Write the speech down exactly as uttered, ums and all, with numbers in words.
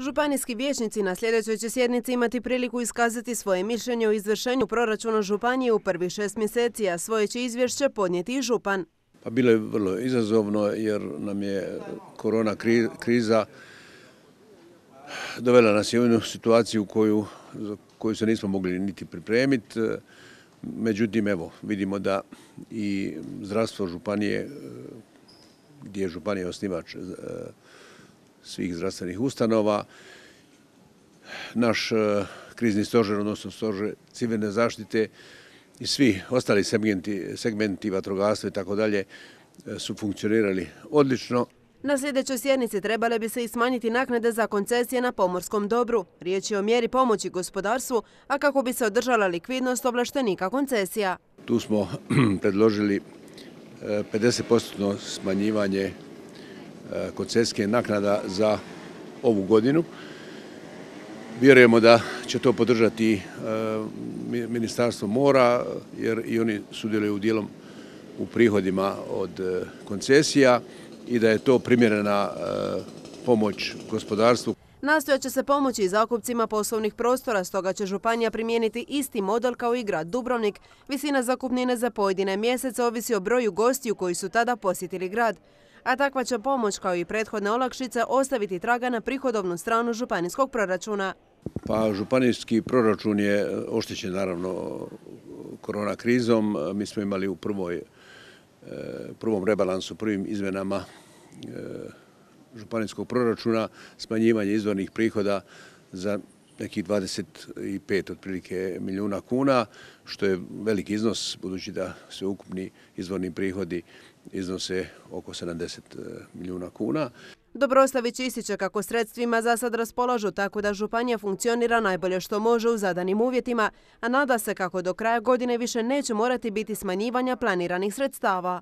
Županijski vijećnici na sljedećoj će sjednici imati priliku iskazati svoje mišljenje o izvršenju proračuna županije u prvih šest mjeseci, a svoje će izvješće podnijeti i župan. Pa bilo je vrlo izazovno jer nam je korona kriza dovela nas je u jednu situaciju koju, koju se nismo mogli niti pripremiti. Međutim, evo, vidimo da i zdravstvo županije, gdje je županija osnivač svih zdravstvenih ustanova, naš krizni stožer, odnosno stožer civilne zaštite i svi ostali segmenti, segmenti vatrogastva i tako dalje su funkcionirali odlično. Na sljedećoj sjednici trebale bi se i smanjiti naknade za koncesije na pomorskom dobru. Riječ je o mjeri pomoći gospodarstvu, a kako bi se održala likvidnost ovlaštenika koncesija. Tu smo predložili pedeset posto smanjivanje koncesijske naknada za ovu godinu. Vjerujemo da će to podržati Ministarstvo mora, jer i oni sudjeluju dijelom u prihodima od koncesija i da je to primjerena pomoć gospodarstvu. Nastojat će se pomoći i zakupcima poslovnih prostora, stoga će županija primijeniti isti model kao i grad Dubrovnik. Visina zakupnine za pojedine mjesece ovisi o broju gostiju koji su tada posjetili grad. A takva će pomoć, kao i prethodne olakšice, ostaviti traga na prihodovnu stranu županijskog proračuna. Pa županijski proračun je oštećen naravno korona krizom. Mi smo imali u prvoj, prvom rebalansu, prvim izmenama županijskog proračuna smanjivanje izvornih prihoda za nekih dvadeset pet otprilike milijuna kuna, što je veliki iznos, budući da sve ukupni izvorni prihodi iznose oko sedamdeset milijuna kuna. Dobrostavić ističe kako sredstvima za sad raspolažu tako da županija funkcionira najbolje što može u zadanim uvjetima, a nada se kako do kraja godine više neće morati biti smanjivanja planiranih sredstava.